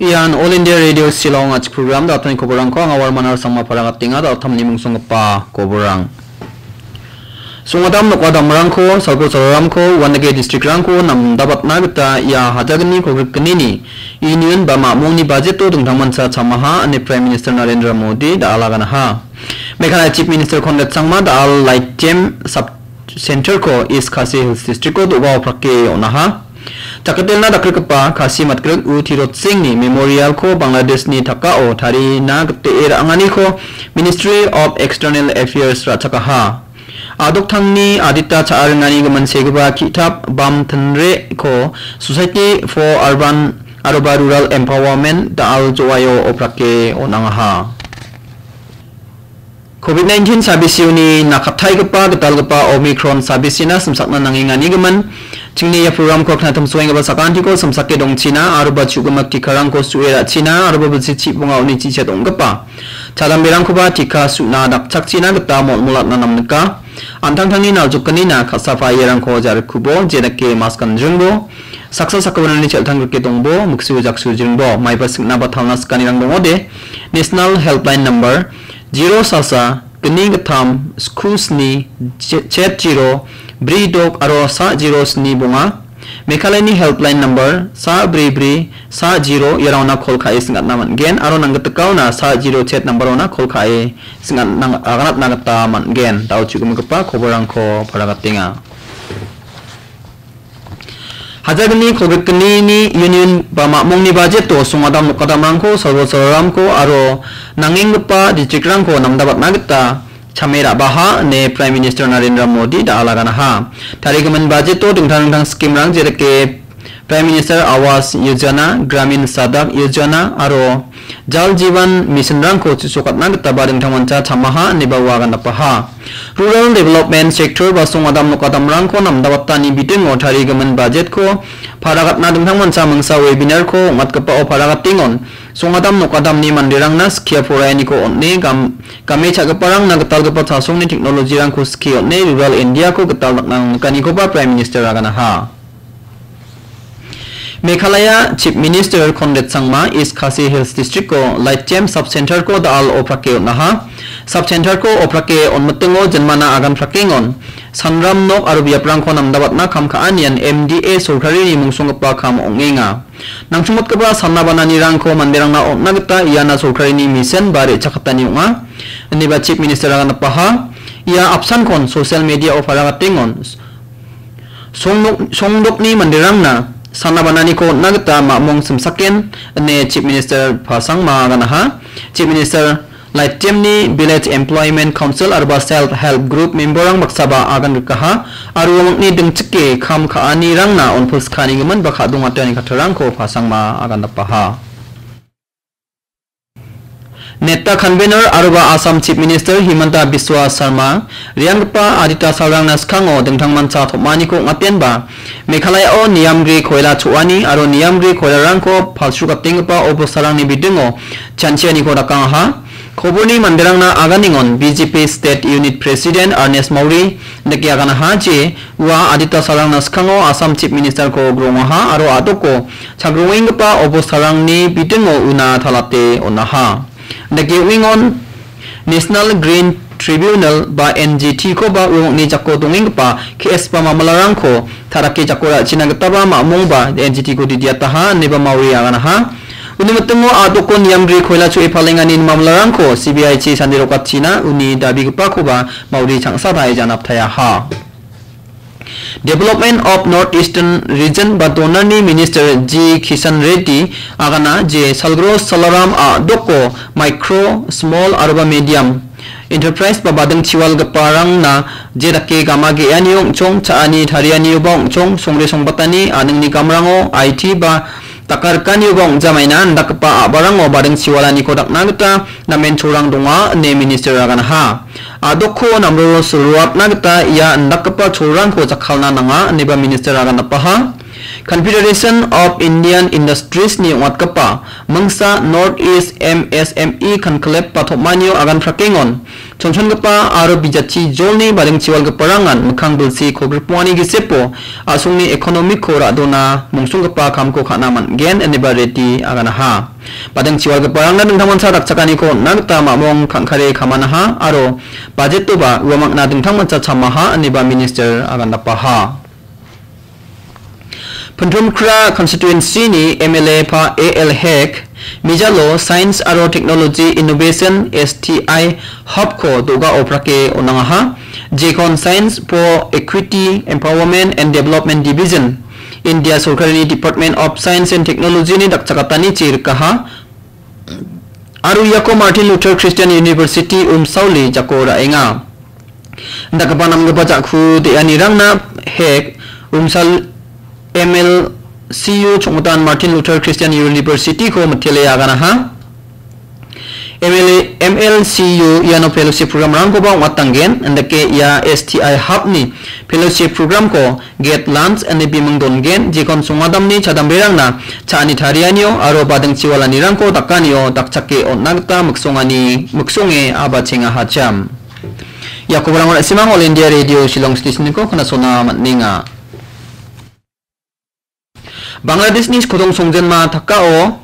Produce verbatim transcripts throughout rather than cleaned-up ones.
Ian All India Radio Shillong a·chik program, da·alni koborrangko anga Warman Arsangma paragatenga, da·alni mungsonggipa koborrang. Songadam nokadamrangko, salko sararamko, uandake district-rangko namdabatna gita ia hajagni kolgrikgnini union ba mamungni budget-o dingtangmancha chamaha ine Prime Minister Narendra Modi da·alaganaha. Meghalaya Chief Minister Conrad Sangma da·al Laitjem Sub Center-ko East Khasi Hills District-o do·ga oprake on·aha. Jakatelna dakgrikgipa Khasi matgrik U Tirotsingni Memorial-ko Bangladeshni takao tarina gitee ra·anganiko Ministry of External Affairs ra·chakaha. Adoktangni adita cha·a ringani gimin segipa ki·tap Bam Tinre-ko Society for Urban aroba Rural Empowerment da·al joaio oprake on·angaha. Covid nineteen sabisioni nakataigipa gitalgipa Omicron sabisina simsakna nangenganigimin, chingni ia program-ko knatimsoenggipa sakantiko simsake dongchina aroba chu·gimak tikarangko su·e ra·china aroba bilsi chibonga uni chichet ong·gipa chadamberangkoba tika su·na dakchakchina gita mol·molatna namnika. An·tangtangni naljokgnina ka·sapairangko jarikubo, jedake mask ganjringbo, saksa sakgipinrangni chel·tanggrike dongbo, miksiu jaksu jringbo, maiba singna ba talna sikanirang dongode, National Helpline Number zero sasa gni gittam sku sni chet zero bri dok aro sa zero sni bonga. Meghalayani helpline number sa bri bri sa zero iarangna kol ka·e sing·atna man·gen aro nanggitikaona sa zero chet number-ona kol ka·e sing·atna aganatna gita man·gen. Da·o chu·gimigipa koborrangko paragatenga. Hajagni kolgrikgnini union ba mamungni budget-o songadam nokadamrangko, salbo sararamko aro nangenggipa district-rangko namdabatna gita chame ra·baha ine Prime Minister Narendra Modi da·alaganaha. Tarigimin budget-o dingtang dingtang scheme-rang jedake Prime Minister Awas Yojana, Gramin Sadak Yojana aro Jal Jeevan Mission-rangko chu·sokatna gitaba dingtangmancha chamaha ineba ua agandapaha. Rural Development Sector ba songadam nokadamrangko namdabatani bidingo tarigimin budget-ko paragatna dingtangmancha mingsa webinar-ko ong·atgipao paragatengon songadam nokadamni manderangna skia poraianiko on·e gam-, game cha·giparangna gitalgipa chasongni technology-rangko skie on·e rural India-ko gital dakna nangnikanikoba Prime Minister aganaha. Meghalaya Chief Minister Conrad Sangma East Khasi Hills District-o Laitjem Sub Center-ko da·al oprake on·aha. Sub Center-ko oprake on·mitingo jinmana agan prakengon sanram nok aro biaprangko namdabatna kam ka·anian M D A sorkarini mungsonggipa kam ong·enga. Nangchongmotgipa sana bananirangko manderangna on·na gita iana sorkarini misen ba re·chakatani ong·a, ineba Chief Minister-a ganapaha. Ia apsankon social media-o paragatengon songnok-, songdokni manderangna sana bananiko on·na gita mamung simsaken, ine Chief Minister Pasangma ganaha. Chief Minister Laitjemni Village Employment Council aroba Self Help Group member-rang baksaba agan rikaha, aro uamangni dingchike kam ka·anirangna on·pilskanigimin ba ka·dongatani kattarangko Pasangma agan dapaha. Neta Convener aroba Assam Chief Minister Himanta Biswa Sarma re·anggipa adita salrangna skango dingtangmancha tom·aniko ong·atenba, Meghalaya-o niamgri koila cho·ani aro niamgri koilarangko palsrukatenggipa obostarangni bidingo chanchianiko dakangaha. Koborni manderangna aganengon B J P State Unit President Ernest Mawri dake aganaha je ua adita salrangna skango Assam Chief Minister-ko grongaha aro a·doko chagrongenggipa obostarangni bidingo una talate on·aha. Dake ong·engon National Green Tribunal ba N G T-koba uamangni jako dongenggipa K S ba mamlarangko ta·rake jako ra·china gitaba mamungba N G T-ko didiataha ineba Mawri aganaha. Uni mitingo a·doko niamgri koila cho·e palengani mamlarangko C B I-chi sandirokatchina uni dabigipakoba Mawri changsa tarie janaptaiaha. Development of North Eastern Region ba DoNER-ni Minister G Kishan Reddy agana je Salgro Salaram a·doko micro, small aroba medium enterprise ba bading chiwalgiparangna je dake gama ge·anio ong·chong, cha·ani tarianioba ong·chong, songre songbatani a·ningni gamrango I T ba dakarikanioba ong·jamaina indakgipa a·barango bading chiwalaniko dakna gita namen cholrang donga ine Minister aganaha. A·doko namroro silroatna gita ia indakgipa cholrangko jakkalna nanga ineba Minister agan dapaha. Confederation of Indian Industries-ni ong·atgipa Mingsa North East M S M E Conclave-ba tom·anio agan prakengon chonchongipa aro bijatchi jolni badingchiwalgiparangan mikkang bilsi kolgrikbongani gisepo a·songni economy-ko ra·dona mongsonggipa kamko ka·na man·gen ineba ready aganaha. Badingchiwalgiparangna dingtangmancha dakchakaniko on·na gita mamong kangkare kamanaha aro budget-oba uamangna dingtangmancha chamaha ineba minister agandapaha. Pynthumkra constituency-ni M L A pa A L Hek, Mijalo Science aro Technology Innovation S T I Hub-ko do·ga oprake on·angaha, jekon Science for Equity, Empowerment and Development Division, India sorkarini Department of Science and Technology-ni dakchakatanichi rikaha. Aro iako Martin Luther Christian University Umsauli jako ra·enga. Dakgipa namgipa ja·ku de·anirangna Hek Umsal M L C U chongmitan Martin Luther Christian University-ko mitele aganaha. M L A, M L C U iano fellowship program-rangkoba ong·atanggen. Indake ia S T I Hub-ni fellowship program-ko get lunch ine biming dongen, jekon songadamni chadamberangna cha·ani tarianio aro badingchiwalanirangko dakanio dakchake on·na gita miksongani, miksonge abachengahachim. Ia kobarango na·simang All India Radio Shillong Station-ko knasona man·enga. Bangladeshni kodong songjenma Dhakao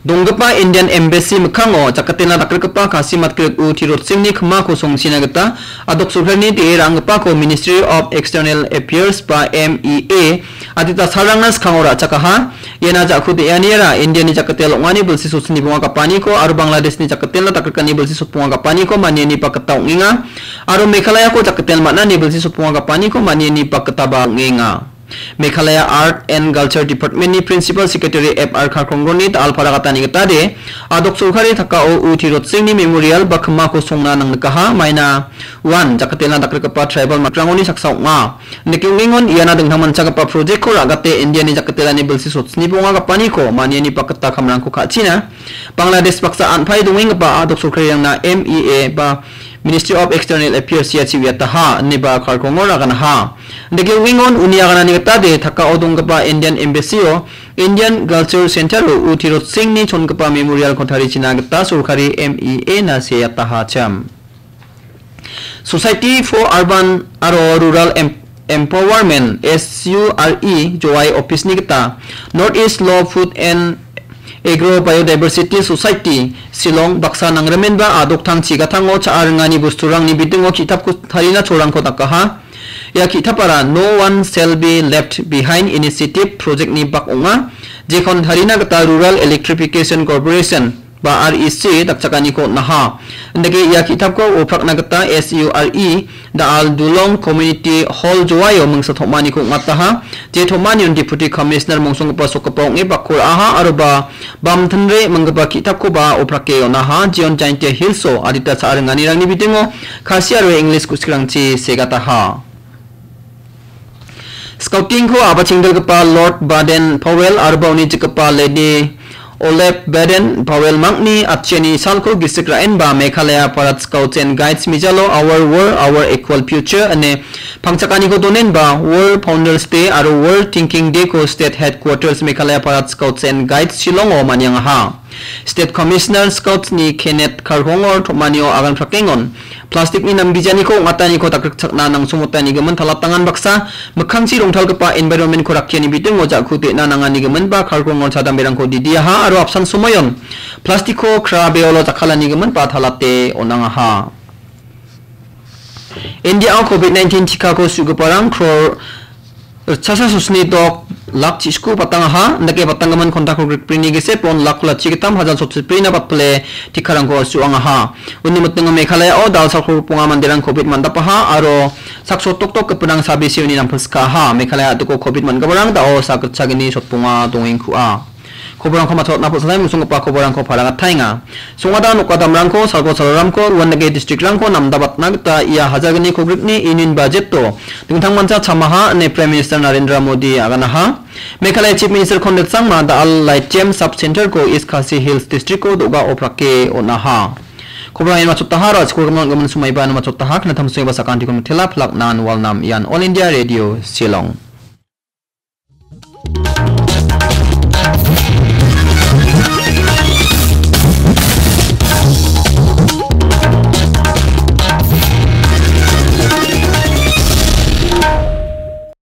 donggipa Indian Embassy mikkango jakatena dakgrikgipa Kasi matgrik U Tirot Singhni kimako songchina gita adok sorkarini de·e ra·anggipako Ministry of External Affairs ba M E A adita salrangna skango ra·chakaha. Iana ja·ku de·aniara Indiani jakatel ong·ani bilsi sotni bonga gapaniko aro Bangladeshni jakatelna dakgrikani bilsi sotbonga gapaniko maniani bakgita ong·enga. Aro Meghalayako jakatel man·ani bilsi sotbonga gapaniko maniani bakgitaba ong·enga. Meghalaya Art and Culture Department-ni Principal Secretary F R Kharkongorni da·alpara gatani gitade, adok sorkari Dhakao U Tirot Singhni Memorial ba kimako songna nangnikaha, maina uan jakatelna dakgrikgipa tribal matrangoni saksa ong·a. Nike ong·engon iana dingtangmanchagipa project-ko ra·gate Indiani jakatelani bilsi sotni bonga gapaniko maniani bakgita kamrangko ka·china Bangladesh baksa an·pae dongenggipa adok sorkarirangna M E A ba Ministry of External Affairs ia chiwiataha, ineba Kharkongor aganaha. Dake ong·engon uni aganani gitade Dhakao donggipa Indian Embassy-o Indian Culture Center-o U Tirot Singhni chongipa memorial-ko tarichina gita sorkari M E A-na seatahachim. Society for Urban aro Rural Em-, Empowerment, S U R E, Jowai office-ni gita North East Law, Food and Agro Biodiversity Society, Shillong baksa nangrimenba adoktang chigatango cha·a ringani bosturangni bidingo ki·tapko tarina cholrangko dakaha. Ia ki·tapara No One Shall Be Left Behind Initiative project-ni bak ong·a, jekon tarina gita Rural Electrification Corporation ba R E C dakchakaniko on·aha. Indake ia ki·tapko oprakna gita S U R E da·al Dulong Community Hall Jowaio mingsa tom·aniko ong·ataha. Je tom·anion Deputy Commissioner mongsonggipa sokgipa ong·e bakko ra·aha aro ba bamtinre minggipa ki·tapkoba oprake on·aha. Jeon Jaintia Hills-o adita cha·a ringanirangni bidingo Khasi aro English ku·sikrangchi segataha. Scouting-ko abachengdilgipa Lord Baden Powell aro ba uni jikgipa Lady Olive Baden Powell mangni atchiani salko gisik ra·enba Meghalaya Parade Scouts and Guides Mijalo Our War, Our Equal Future ine pangchakaniko donenba War Founders Day aro War Thinking Day-ko State Headquarters Meghalaya Parade Scouts and Guides Shillong-o maniangaha. State Commissioner Scouts-ni Kenneth Kharkongor tom·anio agan prakengon, plastic-ni namgijaniko ong·ataniko dakgrikchakna nangsomotanigimin talatangan baksa mikkangchi rongtalgipa environment-ko rakkiani bidingo ja·ku de·na nanganigimin ba Kharkongor chadamberangko didiaha aro apsan somoion plastic-ko kra beolo jakkalanigimin ba talate on·angaha. India-o covid nineteen tikako su·giparang kror ritchasa sosni dok lak chi·sku patangaha, indake patanggimin kontak rikbrini gese pon lak kula chigitam hajal sotchibrina batpile tikarangko su·angaha. Uni mitingo Meghalaya-o dalsak rukbonga manderang covid man·dapaha aro sakso toktok gipinang sabisioni nampilskaha. Meghalaya a·diko covid man·giparang da·o sakgitchagini sotbonga dongengkua. Koborangko matchotna pulsalai mungsonggipa koborangko paragataenga. Songada nokadamrangko, salko salramko, uandake district-rangko namdabatna gita ia hajalgni kogrikni union budget-o dingtangmancha chamaha ine Prime Minister Narendra Modi aganaha. Meghalaya Chief Minister Conrad Sangma da·al Laitjem Sub Center-ko East Khasi Hills District-o do·ga oprake on·aha. Koborang ian matchotaha, ra·chiko gimin gimin somaiba ian matchotaha, knatam soiba sakantikon mitela, plak nan walnam ian All India Radio Shillong.